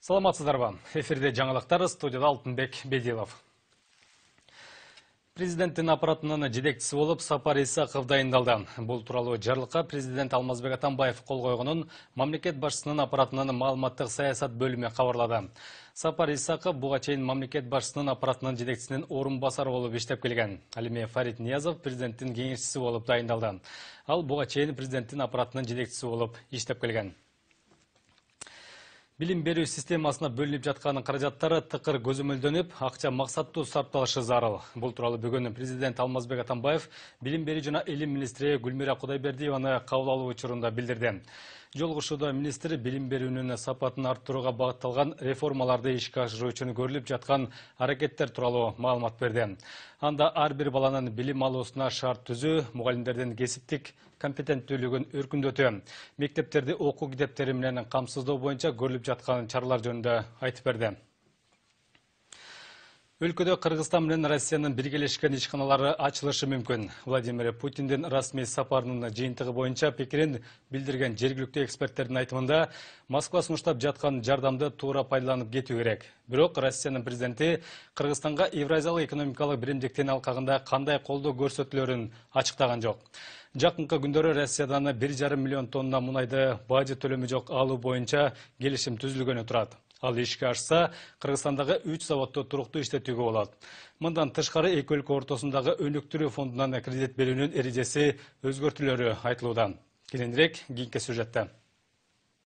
Саламатсыздарбы? Эфирде жаңалыктар, студияда Алтынбек Бедилов. Президенттин аппаратынын жетекчиси болуп Сапар Исаков дайындалды. Бул тууралуу жарлыкка президент Алмазбек Атамбаев кол койгонун мамлекет башчысынын аппаратынын маалыматтык саясат бөлүмү кабарлады. Сапар Исаков буга чейин мамлекет башчысынын аппаратынын жетекчисинин орун басары болуп иштеп келген. Ал эми Фарид Ниязов президенттин кеңешчиси болуп дайындалды. Ал буга чейин президенттин аппаратынын жетекчиси болуп иштеп келген. Билим берүү системасына бөлүнүп жаткан каражаттары тыкыр көзөмөлдөнүп, акча максаттуу сарпталышы зарыл. Бул тууралуу бүгүн президент Алмазбек Атамбаев билим берүү жана илим министри Гүлмира Кудайбердиеваны кабыл алуу учурунда билдирди. Жолугушууда министр билим берүүнүн сапатын арттырууга багытталган реформаларды ишке ашыруу үчүн көрүлүп жаткан аракеттер тууралуу маалымат берди. Анда ар бир баланын билим алуусуна шарт түзүү, мугалимдердин кесиптик компетенттүүлүгүн өркүндөтүү, мектептерди окуу китептери менен камсыздоо боюнча көрүлүп жаткан чаралар жөнүндө айтып берди. Өлкөдө Кыргызстан менен Россиянын биргелешкен ишканалары ачылышы мүмкүн. Владимир Путиндин расмий сапарынын жыйынтыгы боюнча пикирин билдирген жергиликтүү эксперттердин айтымында, Москва сунуштап жаткан жардамды туура пайдаланып кетүү керек. Бирок Россиянын президенти Кыргызстанга Евразиялык экономикалык биримдиктин алкагында кандай колдоо көрсөтүлөрүн ачыктаган жок. Жакынкы күндөрү Россиядан 1,5 миллион тонна мунайды бажы төлөмү жок алуу боюнча келишим түзүлгөнү турат. Ал ишке ашса, Кыргызстандагы 3 заводду туруктуу иштетүүгө болот. Мындан тышкары эки өлкө ортосундагы өнүктүрүү фондунан кредит берүүнүн эрежеси өзгөртүлөрү айтылууда. Кийинирээк кийинки сюжетте.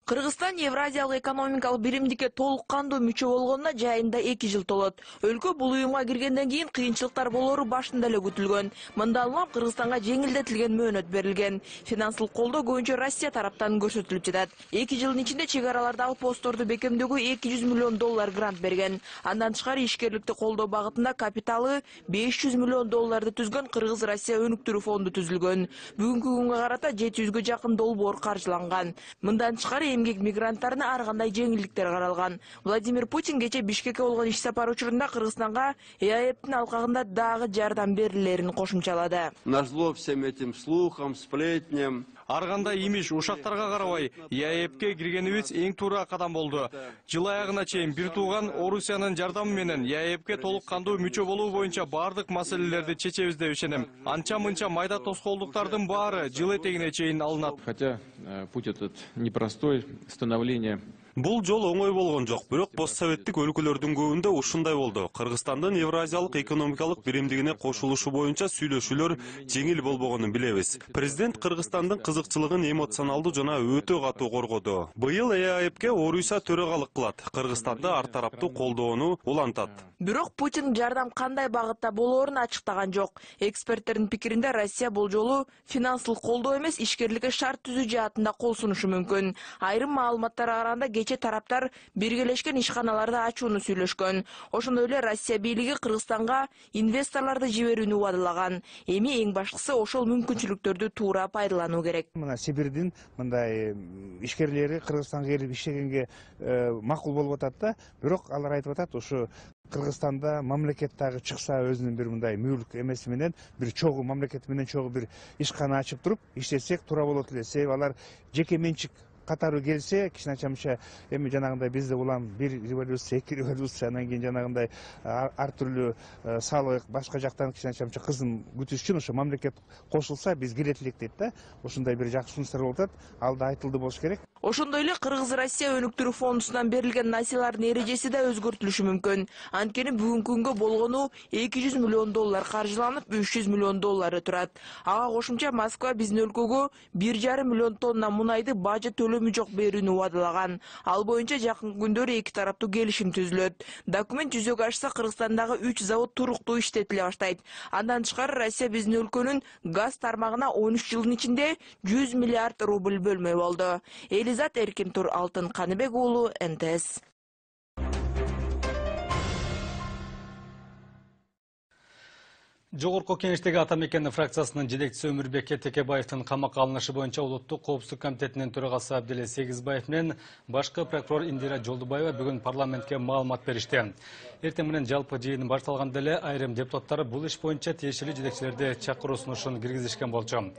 Кыргызстан Евразиялык экономикалык биримдикке толук кандуу мүчө болгонуна жайында 2 жыл толот. Өлкө бул уюмга киргенден кийин кыйынчылыктар болору башында эле күтүлгөн. Мындан улам Кыргызстанга жеңилдетилген мөөнөт берилген. Финансылык колдоо көбүнчө Россия тараптан көрсөтүлүп жатат. 2 жылдын ичинде чек аралардагы постторду бекемдөөгө 200 миллион доллар грант берген. Андан тышкары ишкерликти колдоо багытында капиталы 500 миллион долларды түзгөн Кыргыз-Россия өнүктүрүү фонду түзүлгөн. Бүгүнкү күнгө карата 700гө жакын долбоор каржыланган. Мындан тышкары эмгек мигранттарына ар кандай жеңилдиктер каралган. Владимир Путин кече Бишкекке болгон иш сапары учурунда Кыргызстанга ЭАЭПтин алкагында дагы жардам берилерин кошумчалады. Назло всем этим слухам, сплетням. Ар кандай имиш ушактарга карабай, ЭАЭПке киргенибиз эң туура кадам болду. Жыл аягына чейин бир тууган Орусиянын жардамы менен ЭАЭПке толук кандуу мүчө болуу боюнча бардык маселелерди чечебиз деп ишенем. Анча-мынча майда тоскоолдуктардын баары жыл этегине чейин алынат. Хотя путь этот непростой, становление. Бул жол оңой болгон жок, бирок постсоветтик өлкөлөрдүн көбүндө ушундай болду. Кыргызстандын Евразиялык экономикалык биримдигине кошулушу боюнча сүйлөшүүлөр жеңил болбогонун билебиз. Президент Кыргызстандын кызыкчылыгын эмоционалдуу жана өтө катуу коргоду. Быйыл ЭАЭПке Орусия төрагалык кылат. Кыргызстанды ар тараптуу колдоону улантат. Бирок Путин жардам кандай багытта болоорун ачыктаган жок. Эксперттердин пикиринде Россия бул жолу финансылык колдоо эмес, ишкерликке шарт түзүү жаатында кол сунушу мүмкүн. Айрым маалыматтарга караганда кече тараптар биргелешкен ишканаларды ачууну сүйлөшкөн. Ошондой эле Россия бийлиги Кыргызстанга инвесторлорду жиберүүнү убадылаган. Эми эң башкысы ошол мүмкүнчүлүктөрдү туура пайдалануу керек. Мына Сибирдин мындай ишкерлери Кыргызстанга келип иштегенге макул болуп атат да, бирок алар айтып атат, ушу Кыргызстанда мамлекет дагы чыкса өзүнүн бир мындай мүлк эмеси менен бир чогуу мамлекет менен чогуу бир ишкана ачып туруп иштесек туура болот эле. Себеби алар жеке менчик катары келсе, кичине-чамча эми жанагындай бизде улам бир революция, 2 революция, анан кийин жанагындай ар түрлүү салык, башка жактан кичине-чамча кызым күтүш үчүн ошо мамлекет кошулса биз келет элек дейт да. Ошондой бир жакшы сунуштар болуп атат. Ал да айтылды болуш керек. Ошондой эле Кыргыз-Россия өнүктүрүү фондунан берилген насыялардын эрежеси да өзгөртүлүшү мүмкүн. Анткени бүгүнкү күнгө болгону 200 миллион доллар каржыланып, 300 миллион доллары турат. Ага кошумча Москва биздин өлкөгө 1,5 миллион тонна мунайды бажы төлөмү жок берүүнү убадылаган. Ал боюнча жакынкы күндөрү эки тараптуу келишим түзүлөт. Документ жүзөгө ашса, Кыргызстандагы 3 завод туруктуу иштетиле баштайт. Андан тышкары Россия биздин өлкөнүн газ тармагына 13 жылдын ичинде 100 миллиард рубль бөлмөй болду. Элизат Эркинтур, Алтын Каныбек уулу, НТС. Жогорку Кеңештеги Ата мекен фракциясынын жетекчиси Өмүрбек Текебаевдин камакка алынышы боюнча Улуттук коопсуздук комитетинин төрагасы Абделе Сегизбаев менен башкы прокурор Индира Жолдубаева бүгүн парламентке маалымат беришти. Эртең менен жалпы жыйын башталганда эле айрым депутаттар бул иш боюнча тиешелүү жетекчилерди чакыруу сунушун киргизишкен болчу.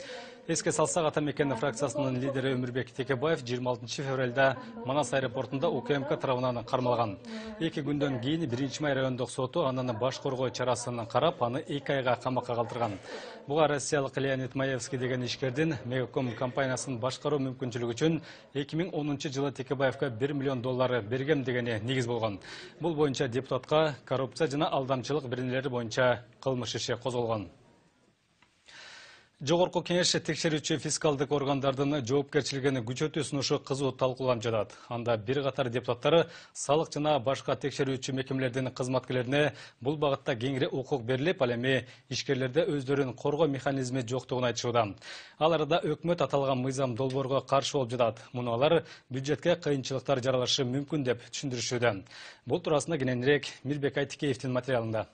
Эске салсак, Ата мекен фракциясынын лидери Өмүрбек Текебаев 26 февралда Манас аэропортунда УКМК тарабынан кармалган. 2 күндөн кийин 1-май райондук соту анын баш коргоо чарасын карап, аны 2 айга камакка калтырган. Буга россиялык Леонид Маевский деген ишкердин Мегаком компаниясын башкаруу мүмкүнчүлүгү үчүн 2010-жылы Текебаевка $1 миллион бергем дегени негиз болгон. Бул боюнча депутатка коррупция жана алдамчылык беренелери боюнча кылмыш иши козголгон. Жогорку кеңеш текшерүүчү фискалдык органдардын жоопкерчилигин күчөтүү сунушу кызуу талкууланып жатат. Анда бир катар депутаттар салык жана башка текшерүүчү мекемелердин кызматкерлерине бул багытта кеңири укук берилип, ал эми ишкерлерде өздөрүн коргоо механизми жоктугун айтышууда. Ал арада өкмөт аталган мыйзам долбоорго каршы болуп жатат. Муну алар бюджетке кыйынчылыктар жаралышы мүмкүн деп түшүндүрүшүүдө. Бул туурасында кененирээк Мирбек Айтикеевдин материалында.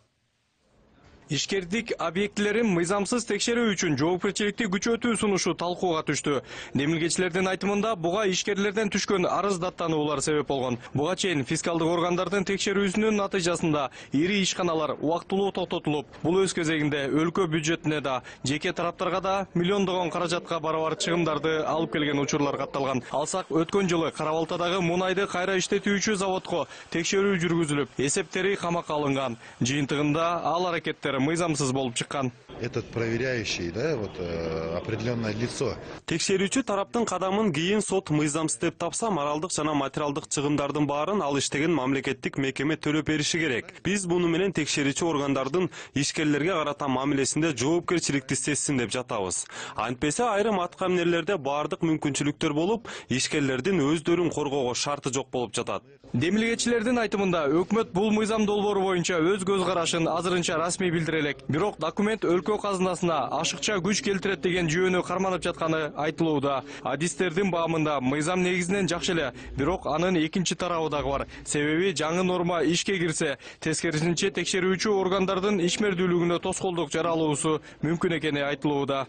Ишкердик объектилерин мыйзамсыз текшерүү үчүн жоопкерчиликти күчөтүү сунушу талкууга түштү. Демилгечилердин айтымында буга ишкерлерден түшкөн арыз даттануулар себеп болгон. Буга чейин фискалдык органдардын текшерүүсүнүн натыйжасында ири ишканалар убактылуу токтотулуп, бул өз кезегинде өлкө бюджетине да, жеке тараптарга да миллиондогон каражатка барабар чыгымдарды алып келген учурлар катталган. Алсак, өткөн жылы Кара-Балтадагы мунайды кайра иштетүүчү заводко текшерүү жүргүзүлүп, эсептери камакка алынган. Жыйынтыгында ал аракеттер мыйзамсыз болуп чыккан. Этот проверяющий, да, вот определенное лицо. Текшерүүчү тараптын кадамын кийин сот мыйзамсыз деп тапса, моралдык жана материалдык чыгымдардын баарын ал иштеген мамлекеттик мекеме төлөп бериши керек. Биз буну менен текшерүүчү органдардын ишкерлерге карата мамилесинде жоопкерчиликти сезсин деп жатабыз. Антпесе айрым аткамнерлерде баардык мүмкүнчүлүктөр болуп, ишкерлердин өздөрүн коргоого шарты жок болуп жатат. Демилгечилердин айтымында өкмөт бул мыйзам долбоору боюнча өз көз карашын азырынча расмий билдире элек. Бирок документ өлкө казынасына ашыкча күч келтирет деген жүйөнү карманып жатканы айтылууда. Адистердин баамында мыйзам негизинен жакшы эле, бирок анын экинчи тарабы дагы бар. Себеби жаңы норма ишке кирсе, тескерисинче текшерүүчү органдардын ишмердүүлүгүнө тоскоолдук жаралуусу мүмкүн экени айтылууда.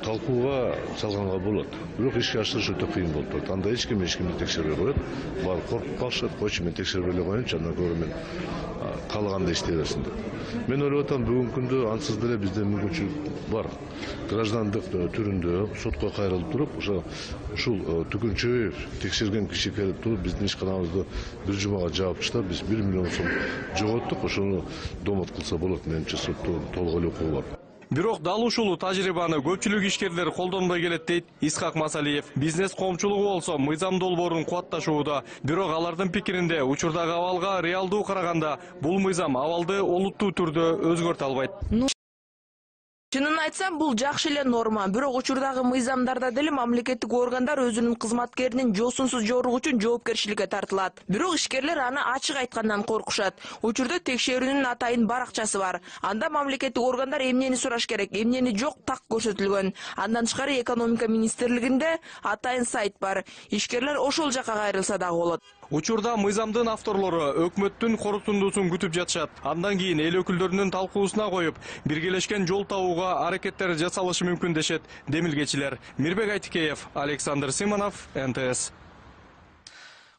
Талкууга салганга болот. Бирок ишке ашырыш өтө кыйын болуп турат. Анда эч ким эчкимди текшербей коет. Баары коркуп калышат. Койчу мен текшербей эле коеюнчу, андан көрө мен каалаганда иштей берсин деп. Мен ойлоп атам, бүгүнкү күндө ансыз деле бизде мүмкүнчүлүк бар. Граждандык түрүндө сотко кайрылып туруп, ушул түкүнчөй текшерген киши келип туруп, биздин ишканабызды бир жумага жаап таштап, биз 1 миллион сом жоготтук. Ошону домот кылса болот, менимче сотто толук эле укугу бар. Бирок дал ушул тажрыйбаны көпчүлүк ишкерлер колдонбой келет дейт Исхак Масалиев. Бизнес коомчулугу болсо мыйзам долбоорун кубатташууда. Бирок алардын пикиринде учурдагы абалга реалдуу караганда бул мыйзам абалды олуттуу түрдө өзгөртө албайт. Чынын айтсам, бул жакшы эле норма, бирок учурдагы мыйзамдарда деле мамлекеттик органдар өзүнүн кызматкеринин жосунсуз жоругу үчүн жоопкерчиликке тартылат. Бирок ишкерлер аны ачык айткандан коркушат. Учурда текшерүүнүн атайын баракчасы бар. Анда мамлекеттик органдар эмнени сураш керек, эмнени жок так көрсөтүлгөн. Андан тышкары экономика министрлигинде атайын сайт бар. Ишкерлер ошол жака кайрылса дагы болот. Учурда мыйзамдын авторлору өкмөттүн корутундуусун күтүп жатышат. Андан кийин эл өкүлдөрүнүн талкуусуна коюп, биргелешкен жол табууга аракеттер жасалышы мүмкүн дешет демилгечилер. Мирбек Айтикеев, Александр Симонов, НТС.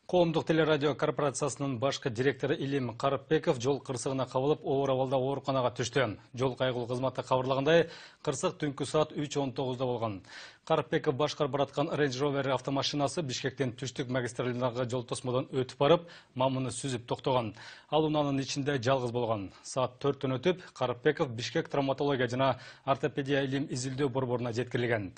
Коомдук телерадио корпорациясынын башкы директору Илим Карыпбеков жол кырсыгына кабылып, оор абалда ооруканага түштү. Жол кайгылуу кызматы кабарлагандай, кырсык түнкү саат 3:19 болгон. Карыпбеков башкарып бараткан Range Rover автомашинасы Бишкектен түштүк магистралындагы жол тосмодон өтүп барып, мамыны сүзүп токтогон. Ал унаанын ичинде жалгыз болгон. Саат 4-төн өтүп, Карыпбеков Бишкек травматология жана ортопедия илим изилдөө борборуна жеткирилген.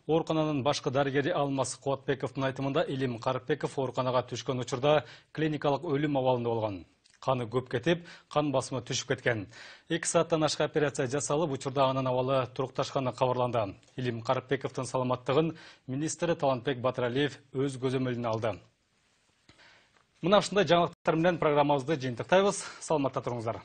Оорукананын башкы дарыгери Алмаз Кубатбековдун айтымында Илим Карыпбеков ооруканага түшкөн учурда клиникалык өлүм абалында болгон. Каны көп кетип, кан басымы түшүп кеткен. 2 сааттан ашык операция жасалып, учурда анын абалы турукташканы кабарланды. Илим Карыпбековдун саламаттыгын министри Талантбек Батыралиев өз көзөмөлүнө алды. Мына ушундай жаңылыктар менен программабызды жыйынтыктайбыз. Саламатта туруңуздар.